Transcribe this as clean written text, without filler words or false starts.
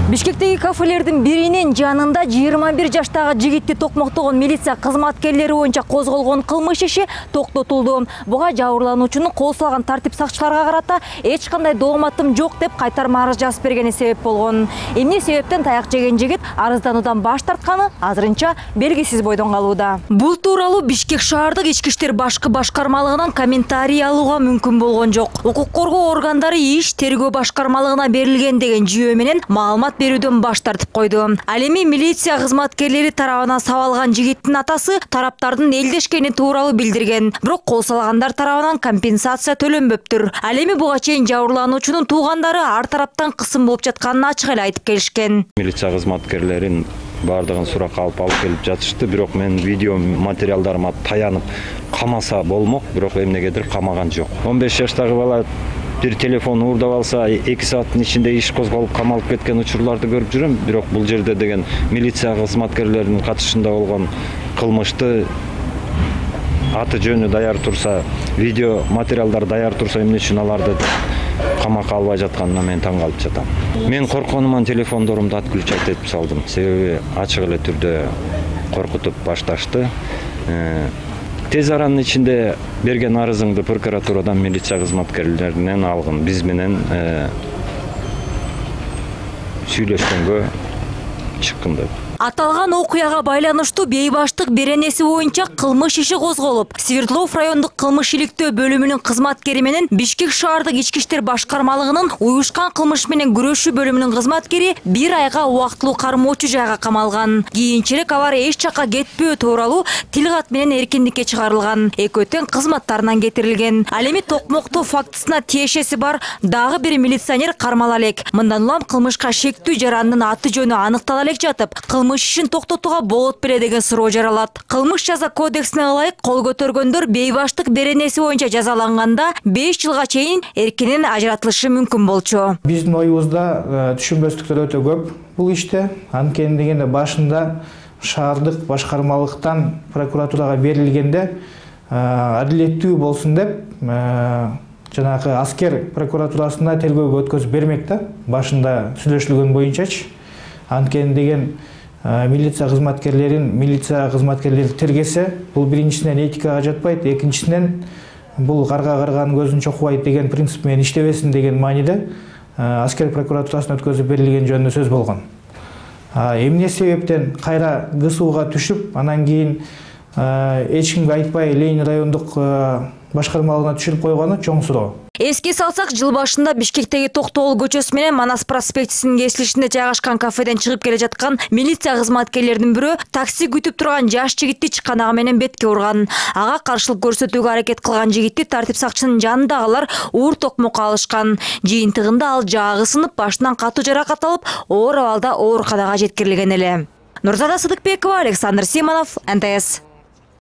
Бишкектеги кафелердин биринин жанында 21 жаштагы жигитти токмоктогон милиция кызматкерлери боюнча козголгон кылмыш иши токтотулду. Буга жабырлануучунун кол салган тартип сакчыларга карата эч кандай дооматым жок деп кайтарма арыз жазып бергени себеп болгон. Эмне себептен таяк жеген жигит арыздануудан баш тартканы азырынча белгисиз бойдон калууда. Бул тууралуу Бишкек шаардык ички иштер башкармалыгынан комментарий алууга мүмкүн болгон жок. Укук коргоо органдары иш тергөө башкармалыгына берилген деген жүйө менен маалымат берүүдөн баш тартып койду. Ал эми милиция кызматкерлери тарабынан сабалган жигиттин атасы тараптардын элдешкени тууралуу билдирген. Бирок кол салгандар тарабынан компенсация төлөнбөптүр. Ал эми буга чейин жабырлануучунун туугандары ар тараптан кысым болуп жатканын ачык эле айтып келишкен. Милиция кызматкерлерин бардыгын суракка алып келип жатышты, бирок мен видео материалдарыма таянып камаса болмок, бирок эмнегедир камаган жок. 15 жаштагы бала бир телефон уурдап алса 2 сааттын ичинде иш козголуп камалып кеткен учурларды көрүп жүрөм, бирок бул жерде деген милиция кызматкерлеринин катышында болгон кылмышты аты жөнү даяр турса, видео материалдар даяр турса, эмне үчүн аларды камакка албай жатканына мен таң калып жатам. Мен коркконуман телефондорумду отключать этип салдым. Себеби ачык эле түрдө коркутуп башташты. Тез аранын ичинде берген арызыңды прокуратурадан милиция кызматкерлеринен алгын. Биз менен сүйлөшкөнгө чыккын деп. Аталган окуяга байланыштуу бейбаштык беренеси боюнча кылмыш иши козголуп, Свердлов райондук кылмыш иликтөө бөлүмүнүн кызматкери менен Бишкек шаардык ички иштер башкармалыгынын уюшкан кылмыш менен күрөшүү бөлүмүнүн кызматкери 1 айга убактылуу кармоочу жайга камалган. Кийинчерээк алар эч жакка кетпөө тууралуу тил кат менен эркиндикке чыгарылган. Экөө тең кызматтарынан кетирилген. Ал эми токмоктоо фактысына тиешеси бар дагы бир милиционер кармала элек. Мындан улам кылмышка шектүү жарандын аты жөнү аныктала элек жатып, кылмыш ишин токтотууга болот беле деген суроо жаралат. Кылмыш жаза кодексине ылайык кол көтөргөндөр бейбаштык беренеси боюнча жазаланганда 5 жылга чейин эркинен ажыратылышы мүмкүн болчу. Биздин оюбузда түшүнбөстүктөр өтө көп бул иште. Анткени дегенде башында шаардык башкармалыктан прокуратурага берилгенде адилеттүү болсун деп жанагы аскер прокуратурасына тергөөгө өткөзүп бермек да. Башында сүйлөшүлгөн боюнчачы. Анткени деген милиция кызматкерлери тергесе, бул биринчисинен этикага жатпайт, экинчисинен бул карга карганын көзүн чокубайт деген принцип менен иштебесин деген мааниде аскер прокуратурасына өткөзүп берилген жөнүндө сөз болгон. Эмне себептен кайра ГСУга түшүп, анан кийин эч кимге айтпай Ленин райондук башкармалыгына түшүрүп койгону чоң суроо. Эске салсак, жыл башында Бишкектеги Токтогул көчөсү менен Манас проспектисинин кесилишинде жайгашкан кафеден чыгып келе жаткан милиция кызматкерлеринин бирөө такси күтүп турган жаш жигитти чыканагы менен бетке урган. Ага каршылык көрсөтүүгө аракет кылган жигитти тартип сакчынын жанындагылар уур токмокко алышкан. Жыйынтыгында ал жаагы сынып, башынан катуу жаракат алып, оор абалда ооруканага жеткирилген эле. Нурзада Сыдыкбекова, Александр Симонов, НТС.